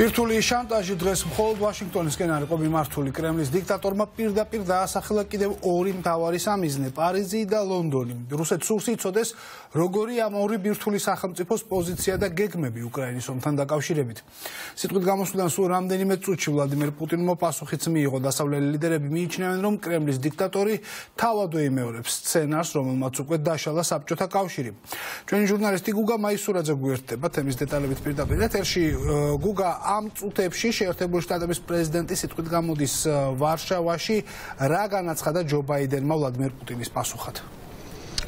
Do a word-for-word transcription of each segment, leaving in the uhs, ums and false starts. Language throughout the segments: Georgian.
ბირთული შანტაჟი დღეს მხოლოდ ვაშინგტონისკენ არ იყო მიმართული. კრემლის დიქტატორმა პირდაპირ დაასახელა კიდევ ორი მთავარი სამიზნე, პარიზი და ლონდონი. რუსეთს სურს იცოდეს, როგორი ამ ორი ბირთული სახელმწიფოს პოზიცია და გეგმები უკრაინის ომთან დაკავშირებით. სიტყვით გამოსვლიდან სულ რამდენიმე წუთში ვლადიმერ პუტინმა პასუხიც მიიღო. დასავლელი ლიდერები მიიჩნევენ, რომ კრემლის დიქტატორი თავად ეიმეორებს სცენარს, რომელმაც უკვე დაშალა საბჭოთა კავშირი. ჩვენი ჟურნალისტი გუგა მაისურაძე გვერდება თემის დეტალებით პირდაპირ ეთერში. გუგა, ამ წუთებში შეერთებული შტატების პრეზიდენტი სიტყვით გამოდის ვარშავაში, რა განაცხადა ჯო ბაიდენმა ვლადიმერ პუტინის პასუხად?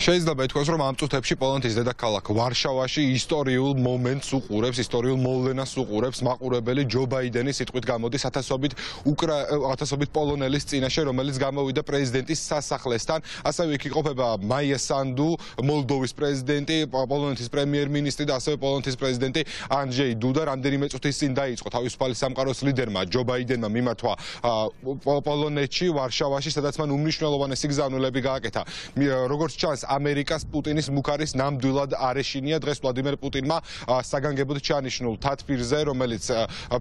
შეიძლება ითქვას, რომ ამ წუთებში პოლონეთის დედაქალაქ ვარშავაში ისტორიულ მომენტს უყურებს, ისტორიულ მოვლენას უყურებს მაყურებელი ჯო ბაიდენი სიტყვით გამოდის ათასობით უკრა ათასობით პოლონელის წინაშე, რომელიც გამოვიდა პრეზიდენტის სასახლესთან. ასევე იქ იყოფება მაია სანდუ, მოლდოვის პრეზიდენტი, პოლონეთის პრემიერ-მინისტრი და ასევე პოლონეთის პრეზიდენტი ანჯეი დუდა. რამდენიმე წუთის წინ დაიწყო თავისუფალი სამყაროს ლიდერმა ჯო ბაიდენმა მიმართვა პოლონეთში, ვარშავაში, სადაც მან უმნიშვნელოვანესი გზავნილები გააკეთა. როგორც ჩანს, ამერიკას პუტინის მუქარის ნამდვილად არ ეშინია. დღეს ვლადიმერ პუტინმა საგანგებოდ ჩაანიშნულ თათბირზე, რომელიც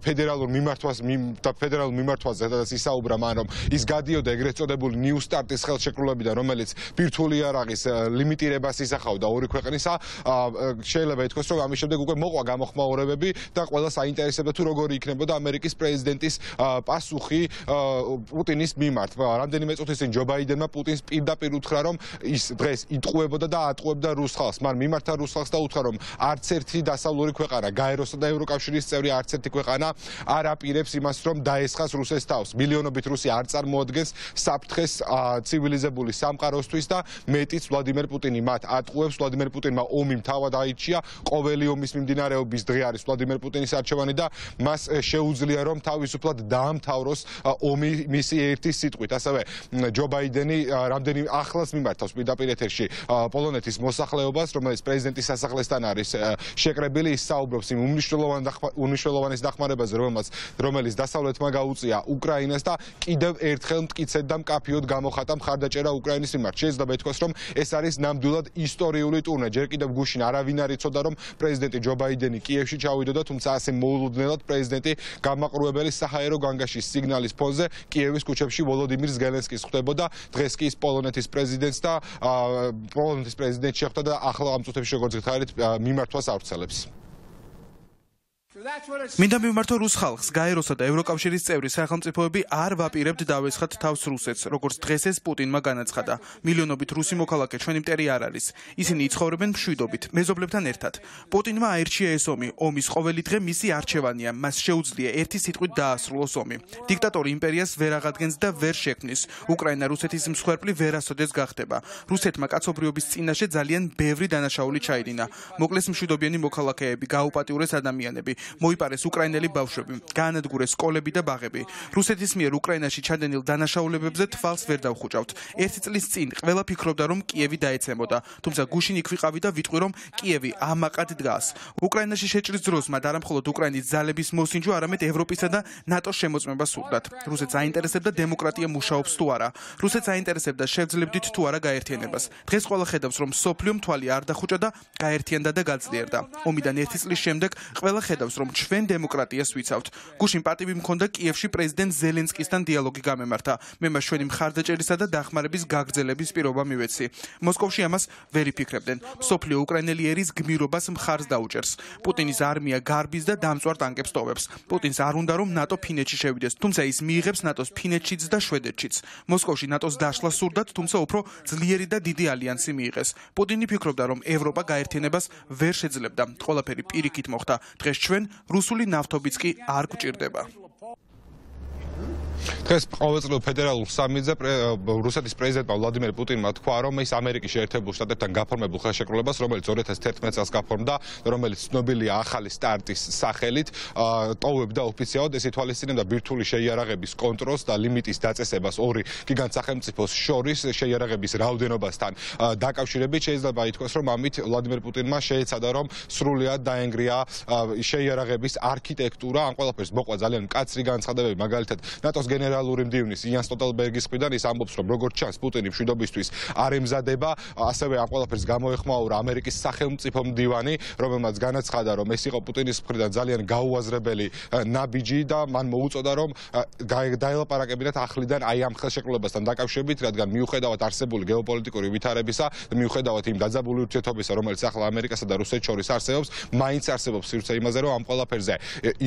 ფედერალურ მიმართვას და ფედერალურ მიმართვაზე ისაუბრა მან, რომ ის გადიოდა ეგრეთ წოდებული ნიუ სტარტის ხელშეკრულებიდან, რომელიც ბირთვული იარაღის ლიმიტირებას ისახავდა ორი ქვეყნისა. შეიძლება ითქვას, რომ ამის შემდეგ უკვე მოყვა გამოხმაურებები და ყველა საინტერესებდა თუ როგორი იქნებოდა ამერიკის პრეზიდენტის პასუხი პუტინის მიმართ. რამდენიმე წუთის წინ ჯო ბაიდენმა პუტინს პირდაპირ უთხრა, რომ ის დღეს იტყუებოდა და ატყუებდა რუს ხალხს. მან მიმართა რუს ხალხს და უთხრა, რომ არც ერთი დასავლური ქვეყანა, გაეროსა და ევროკავშირის წევრი არც ერთი ქვეყანა არ აპირებს იმას, რომ დაესხას რუსეთს თავს. მილიონობით რუსი არ წარმოადგენს საფრთხეს ცივილიზებული სამყაროსთვის და მეტიც ვლადიმერ პუტინი მათ ატყუებს. ვლადიმერ პუტინმა ომი მთავად აიჩია. ყოველი ომის მიმდინარეობის დღე არის ვლადიმერ პუტინის არჩევანი და მას შეუძლია, რომ თავისუფლად დაამთავროს ომი მისი ერთი სიტყვით. ასევე ჯო ბაიდენი რამდენი ახლას მიმართავს პირდაპირ ეთერში პოლონეთის მოსახლეობას, რომელიც პრეზიდენტის სასახლესთან არის შეკრებილი, ის საუბრობს იმ უმნიშვნელოვანეს დახმარებაზე, რომელიც დასავლეთმა გაუწია უკრაინას და კიდევ ერთხელ მტკიცედ და მკაფიოდ გამოხატა მხარდაჭერა უკრაინის მიმართ. შეიძლება ითქვას, რომ ეს არის ნამდვილად ისტორიული ტურნე. ჯერ კიდევ გუშინ არავინ არ იცოდა, რომ პრეზიდენტი ჯო ბაიდენი კიევში ჩავიდოდა, თუმცა ასე მოულოდნელად პრეზიდენტი გამაყურებელი საჰაერო განგაშის სიგნალის ფონზე კიევის ქუჩებში ვოლოდიმირ ზელენსკის ხვდებოდა. დღეს კი ის პოლონეთის პრეზიდენტს და პოლონეთის პრეზიდენტი შეხვდა და ახლა ამ წუთებში როგორც გითხარით მიმართვას ავრცელებს. მინდა მიმართო რუს ხალხს, გაეროსა და ევროკავშირის წევრი სახელმწიფოები არ ვაპირებთ დავესხათ თავს რუსეთს, როგორც დღეს ეს პუტინმა განაცხადა. მილიონობით რუსი მოქალაქე ჩვენი მტერი არ არის. ისინი იცხოვრებენ მშვიდობით, მეზობლებთან ერთად. პუტინმა აირჩია ეს ომი. ომის ყოველი დღე მისი არჩევანია. მას შეუძლია ერთი სიტყვით დაასრულოს ომი. დიქტატორი იმპერიას ვერ აღადგენს და ვერ შექმნის. უკრაინა რუსეთის მსხვერპლი ვერასოდეს გახდება. რუსეთმა კაცობრიობის წინაშე ძალიან ბევრი დანაშაული ჩაიდინა. მოკლეს მშვიდობიანი მოქალაქეები, გაუპატიურეს ადამიანები. მოიპარეს უკრაინელი ბავშვები, გაანადგურეს სკოლები და ბაღები. რუსეთის მიერ უკრაინაში ჩადენილ დანაშაულებებზე თვალს ვერ დავხუჭავთ. ერთი წლის წინ ყველა ფიქრობდა, რომ კიევი დაეცემოდა, თუმცა გუშინ იქ ვიყავი და ვიტყვი, რომ კიევი ამაყად დგას. უკრაინაში შეჭრის დროს მათ არა მხოლოდ უკრაინის ძალების მოსინჯვა, არამედ ევროპისა და ნატოს შემოწმება სურდათ. რუსეთს აინტერესებდა დემოკრატია მუშაობს თუ არა. რუსეთს აინტერესებდა შევძლებდით თუ არა გაერთიანებას. დღეს ყველა ხედავს, რომ სოფლიომ თვალი არ დახუჭა და გაერთიანდა და გაძლიერდა. ომიდან ერთი წლის შემდეგ ყველა ხედავს, რომ ჩვენ დემოკრატიას ვიცავთ. გუშინ პატივი მქონდა კიევში პრეზიდენტ ზელენსკისთან დიალოგი გამემართა. მე მას ჩვენი მხარდაჭერისა და დახმარების გაგრძელების პირობა მივეცი. მოსკოვში ამას ვერ იფიქრებდნენ. მსოფლიო უკრაინელი ერის გმირობას მხარს დაუჭერს. პუტინის არმია გარბის და დამწვარ ტანკებს ტოვებს. პუტინს არ უნდა, რომ ნატო ფინეთში შევიდეს, თუმცა ის მიიღებს ნატოს ფინეთშიც და შვედეთშიც. მოსკოვში ნატოს დაშლა სურდათ, თუმცა უფრო ძლიერი და დიდი ალიანსი მიიღეს. პუტინი ფიქრობდა, რომ ევროპა გაერთიანებას ვერ შეძლებდა. ყველაფერი პირიქით მოხდა. დღეს ჩვენ რუსული ნავთობიც კი არ გვჭირდება. დღეს ყოველწლიურ ფედერალურ სამიტზე რუსეთის პრეზიდენტმა ვლადიმერ პუტინმა თქვა, რომ ის ამერიკის შეერთებულ შტატებთან გაფორმებულ ხელშეკრულებას, რომელიც ორი ათას თერთმეტ წელს გაფორმდა, რომელიც ცნობილია ახალი სტარტის სახელით, ტოვებდა ოფიციალურად. ეს ითვალისწინებდა ბირთვული შეიარაღების კონტროლს და ლიმიტის დაწესებას ორი გიგანტ სახელმწიფოს შორის შეიარაღების რაოდენობასთან დაკავშირებით. შეიძლება ითქვას, რომ ამით ვლადიმერ პუტინმა შეეცადა, რომ სრულად დაენგრია შეიარაღების არქიტექტურა. ამ ყველაფერს მოყვა ძალიან მკაცრი განცხადებები, მაგალითად ნატოს გენერალური გენერალური მდივნის იან სტოლტენბერგის მხრიდან ის ამბობს, რომ როგორც ჩანს, პუტინი მშვიდობისთვის არ ემზადება, ასევე ამ ყველაფერს გამოეხმაურა ამერიკის სახელმწიფო მდივანი, რომელმაც განაცხადა, რომ ეს იყო პუტინის მხრიდან ძალიან გაუაზრებელი ნაბიჯი და მან მოუწოდა, რომ დაელაპარაკებინათ ახლიდან აი ამ ხელშეკრულებასთან დაკავშირებით, რადგან მიუხედავად არსებული გეოპოლიტიკური ვითარებისა და მიუხედავად იმ დაძაბული ურთიერთობისა, რომელიც ახლა ამერიკასა და რუსეთს შორის არსებობს, მაინც არსებობს სივრცე იმაზე, რომ ამ ყველაფერზე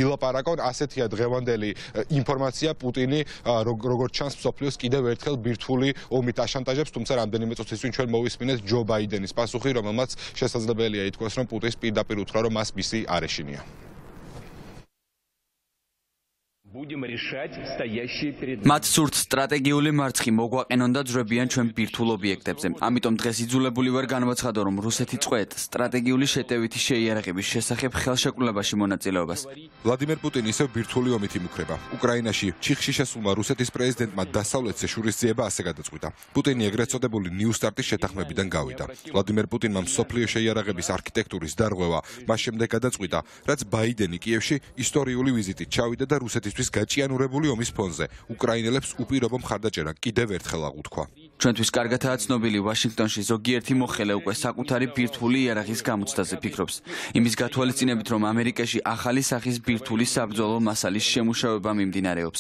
ილაპარაკონ. ასეთია დღევანდელი ინფორმაცია. პუტინი როგორც ჩანს, მსოფლიოს კიდევ ერთხელ ბირთვული ომით აშანტაჟებს, თუმცა რამდენიმე წუთის წინ ჩვენ მოვისმინეთ ჯო ბაიდენის პასუხი, რომელმაც შესაძლებელია ითქვას, რომ პუტინს პირდაპირ უთხრა, რომ მას მისი არ ეშინია. მათ სურთ სტრატეგიული მარცხი მოგვაყენონ და ძრებიან ჩვენ ბირთვულ ობიექტებზე. ამიტომ დღეს იძულებული ვარ განვაცხადო, რომ რუსეთი წყვეტ სტრატეგიული შეტევითი შეიარაღების შესახებ ხელშეკრულებაში მონაწილეობას. ვლადიმერ პუტინი ისევ ბირთვული ომით იმუქრება. უკრაინაში ჩიხში შესულმა რუსეთის პრეზიდენტმა დასავლეთზე შურისძიება ასე გადაწყვიტა. პუტინი ეგრეთ წოდებული ნიუ სტარტის შეთანხმებიდან გავიდა. ვლადიმერ პუტინმა მსოფლიო შეიარაღების არქიტექტურის დარღვევა მას შემდეგ გადაწყვიტა, რაც ბაიდენი კიევში ისტორიული ვიზიტით ჩავიდა და რუსეთისთვის გაჭიანურებული ომის ფონზე უკრაინელებს უპირობო მხარდაჭერა კიდევ ერთხელ აღუთქვა. ჩვენთვის კარგადაა ცნობილი, ვაშინგტონში ზოგიერთი მოხელე უკვე საკუთარი ბირთვული იარაღის გამოცდაზე ფიქრობს. იმის გათვალისწინებით, რომ ამერიკაში ახალი სახის ბირთვული საბრძოლო მასალის შემუშავება მიმდინარეობს.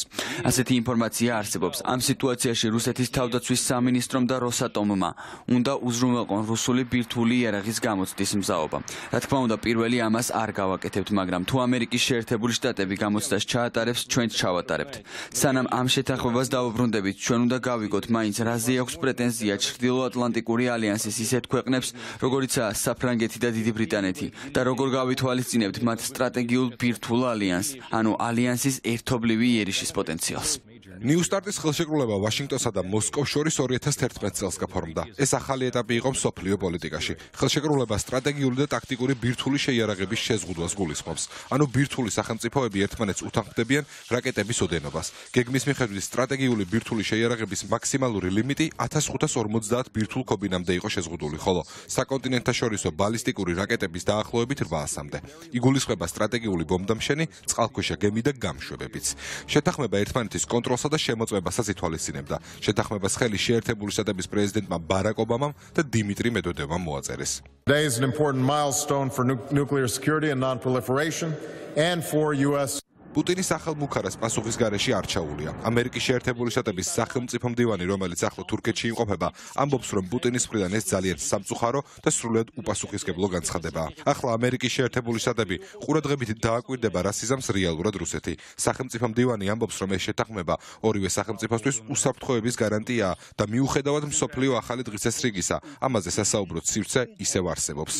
ასეთი ინფორმაცია არსებობს. ამ სიტუაციაში რუსეთის თავდაცვის სამინისტრომ და როსატომმა უნდა უზრუნველყონ რუსული ბირთვული იარაღის გამოცდის მზაობა. რა თქმა უნდა, პირველი ამას არ გავაკეთებთ, მაგრამ თუ ამერიკის შეერთებული შტატები გამოცდას ჩაატარებს, ჩვენც ჩავატარებთ. სანამ ამ შეთანხმებას დავუბრუნდებით, ჩვენ უნდა გავიგოთ, მაინც რაზე აქვს პრეტენზია ჩრდილოატლანტიკური ალიანსის ისეთ ქვეყნებს, როგორიცაა საფრანგეთი და დიდი ბრიტანეთი და როგორ გავითვალისწინებთ მათ სტრატეგიულ ბირთვულ ალიანსს, ანუ ალიანსის ერთობლივი იერიშის პოტენციალს. ნიუ სტარტის ხელშეკრულება ვაშინგტონსა და მოსკოვს შორის ორი ათას თერთმეტ წელს გაფორმდა. ეს ახალი ეტაპი იყო მსოფლიო პოლიტიკაში. ხელშეკრულება სტრატეგიული და ტაქტიკური ბირთვული შეიარაღების შეზღუდვას გულისხმობს. ანუ ბირთვული სახელმწიფოები ერთმანეთს უთანხმდებიან რაკეტების ოდენობას. გეგმის მიხედვით სტრატეგიული ბირთვული შეიარაღების მაქსიმალური ლიმიტი ათას ხუთას ორმოცდაათ ბირთვულ ქობინამდე იყო შეზღუდული, ხოლო საკონტინენტთაშორისო ბალისტიკური რაკეტების დაახლოებით რვაასამდე. იგულისხმება სტრატეგიული ბომბდამშენი, წყალქვეშა გემი და გამშვებებიც. შეთანხმება ერთმანეთის კონტროლს და შემოწმებასაც ითვალისწინებდა. შეთანხმებას ხელი შეერთებული შტატების პრეზიდენტმა ბარაკ ობამამ და დიმიტრი მედვედევმა მოაწერეს. Today is an important milestone for nuclear security and non-proliferation and for U S პუტინის ახალ მუქარას პასუხის გარეშე არ ჩაულია. ამერიკის შეერთებული შტატების სახელმწიფო მდივანი, რომელიც ახლა თურქეთში იმყოფება, ამბობს, რომ პუტინის მხრიდან ეს ძალიან სამწუხარო და სრულიად უპასუხისმგებლო განცხადებაა. ახლა ამერიკის შეერთებული შტატები ყურადღებით დააკვირდება, რა სიზამს რეალურად რუსეთი. სახელმწიფო მდივანი ამბობს, რომ ეს შეთანხმება ორივე სახელმწიფოსთვის უსაფრთხოების გარანტიაა და მიუხედავად მსოფლიო ახალი დღესასრიგისა, ამაზე სასაუბრო სივრცე ისევ არსებობს.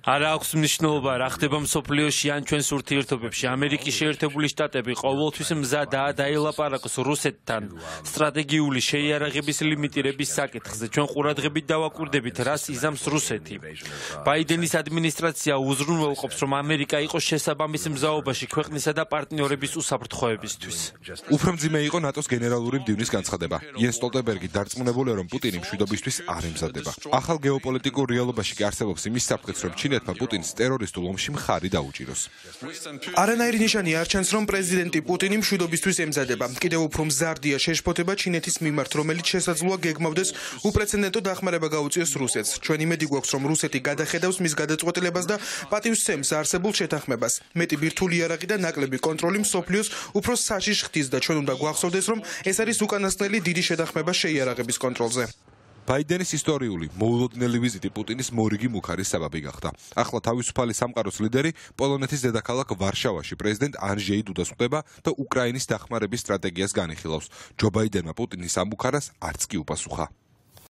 არ აქვს მნიშვნელობა, რა ხდება მსოფლიოში ან ჩვენს ურთიერთობებში. ამერიკის შეერთებული შტატები ყოველთვის მზადაა დაელაპარაკოს რუსეთთან სტრატეგიული შეიარაღების ლიმიტირების საკითხზე. ჩვენ ყურადღებით დავაკვირდებით, რას იზამს რუსეთი. ბაიდენის ადმინისტრაცია უზრუნველყოფს, რომ ამერიკა იყოს შესაბამის მზაობაში ქვეყნისა და პარტნიორების უსაფრთხოებისთვის. უფრო მძიმე იყო ნატოს გენერალური მდივნის განცხადება. იენს სტოლტენბერგი დარწმუნებულია, რომ პუტინი მშვიდობისთვის არ ემზადება. ახალ გეოპოლიტიკურ რეალობაში კი არსებობს იმის საფრთხეც, რომ ჩინეთმა პუტინს ტერორისტულ ომში მხარი დაუჭიროს. არანაირი ნიშანი არ ჩანს, რომ პრეზიდენტი პუტინი მშვიდობისთვის ემზადება. კიდევ უფრო მზარდია შეშფოთება ჩინეთის მიმართ, რომელიც შესაძლოა გეგმავდეს უპრეცედენტო დახმარება გაუწიოს რუსეთს. ჩვენ იმედი გვაქვს, რომ რუსეთი გადახედავს მის გადაწყვეტილებას და პატივსცემს არსებულ შეთანხმებას. მეტი ბირთვული იარაღი და ნაკლები კონტროლი მსოფლიოს უფრო საშიშ ხდის და ჩვენ უნდა გვახსოვდეს, რომ ეს არის უკანასკნელი დიდი შეთანხმება შეიარაღების კონტროლზე. ბაიდენის ისტორიული მოულოდნელი ვიზიტი პუტინის მორიგი მუქარის საბაბი გახდა. ახლა თავისუფალი სამყაროს ლიდერი პოლონეთის დედაქალაქ ვარშავაში პრეზიდენტ ანჟეი დუდას ხვდება და უკრაინის დახმარების სტრატეგიას განიხილავს. ჯო ბაიდენმა პუტინის ამ მუქარას არც კი უპასუხა.